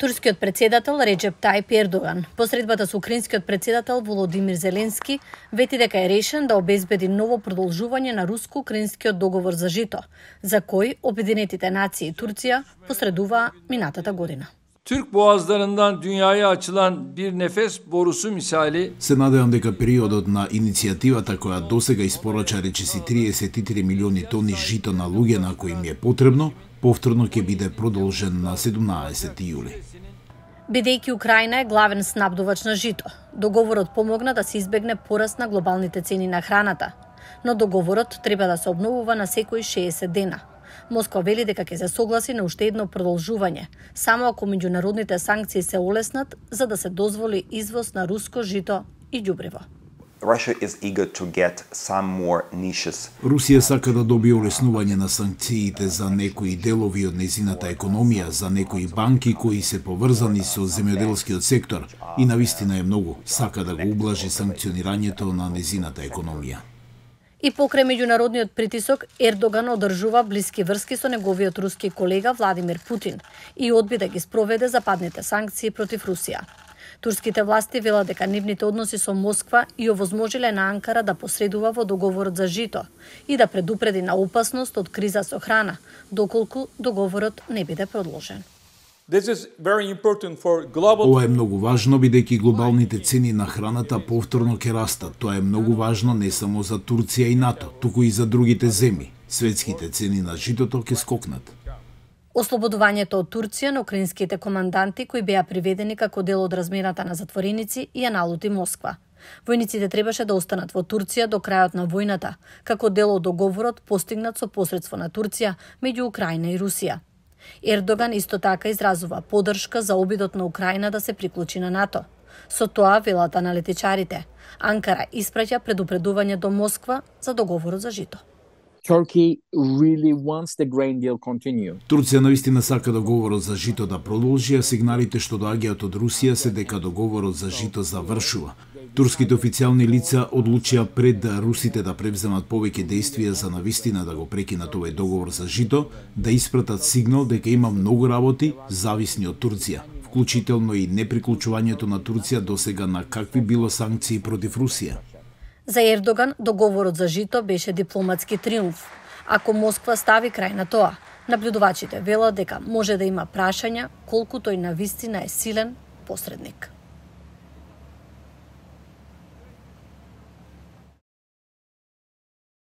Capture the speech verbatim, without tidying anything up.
Турскиот председател Реджеп Тајип Ердоган, посредбата со украинскиот председател Володимир Зеленски, вети дека е решен да обезбеди ново продолжување на руско-украинскиот договор за жито, за кој Обединетите нации и Турција посредуваа минатата година. Türk boğazlarından dünyaya açılan bir nefes borusu misali се надевам дека периодот на иницијативата која досега испорача речиси триесет и три милиони тони жито на луѓе на кои им е потребно, повторно ќе биде продолжен на седумнаесети јули. Бидејќи Украина е главен снабдувач на жито, договорот помогна да се избегне пораст на глобалните цени на храната, но договорот треба да се обновува на секои шеесет дена. Москва вели дека ќе се согласи на уште едно продолжување, само ако меѓународните санкции се олеснат за да се дозволи извоз на руско жито и ѓубриво. Русија сака да добие олеснување на санкциите за некои делови од незината економија, за некои банки кои се поврзани со земјоделскиот сектор и навистина е многу сака да го ублажи санкционирањето на незината економија. И покрај меѓународниот притисок, Ердоган одржува блиски врски со неговиот руски колега Владимир Путин и одби да ги спроведе западните санкции против Русија. Турските власти велат дека нивните односи со Москва и овозможиле на Анкара да посредува во договорот за жито и да предупреди на опасност од криза со храна, доколку договорот не биде продолжен. Ова е многу важно, бидејќи глобалните цени на храната повторно ќе растат. Тоа е многу важно не само за Турција и НАТО, туку и за другите земји. Светските цени на житото ќе скокнат. Ослободувањето од Турција на украинските команданти кои беа приведени како дел од размената на затвореници и ја налути Москва. Војниците требаше да останат во Турција до крајот на војната, како дел од договорот постигнат со посредство на Турција меѓу Украина и Русија. Ердоган исто така изразува поддршка за обидот на Украина да се приклучи на НАТО. Со тоа, велат аналитичарите, Анкара испраќа предупредување до Москва за договорот за жито. Really Турција навистина сака договорот за жито да продолжи, а сигналите што доаѓаат од Русија се дека договорот за жито завршува. Турските официјални лица одлучија пред да русите да превземат повеќе дејствија за навистина да го прекинат овој договор за жито, да испратат сигнал дека има многу работи зависни од Турција, вклучително и неприклучувањето на Турција досега на какви било санкции против Русија. За Ердоган договорот за жито беше дипломатски триумф. Ако Москва стави крај на тоа, наблюдувачите велат дека може да има прашања колку тој навистина е силен посредник.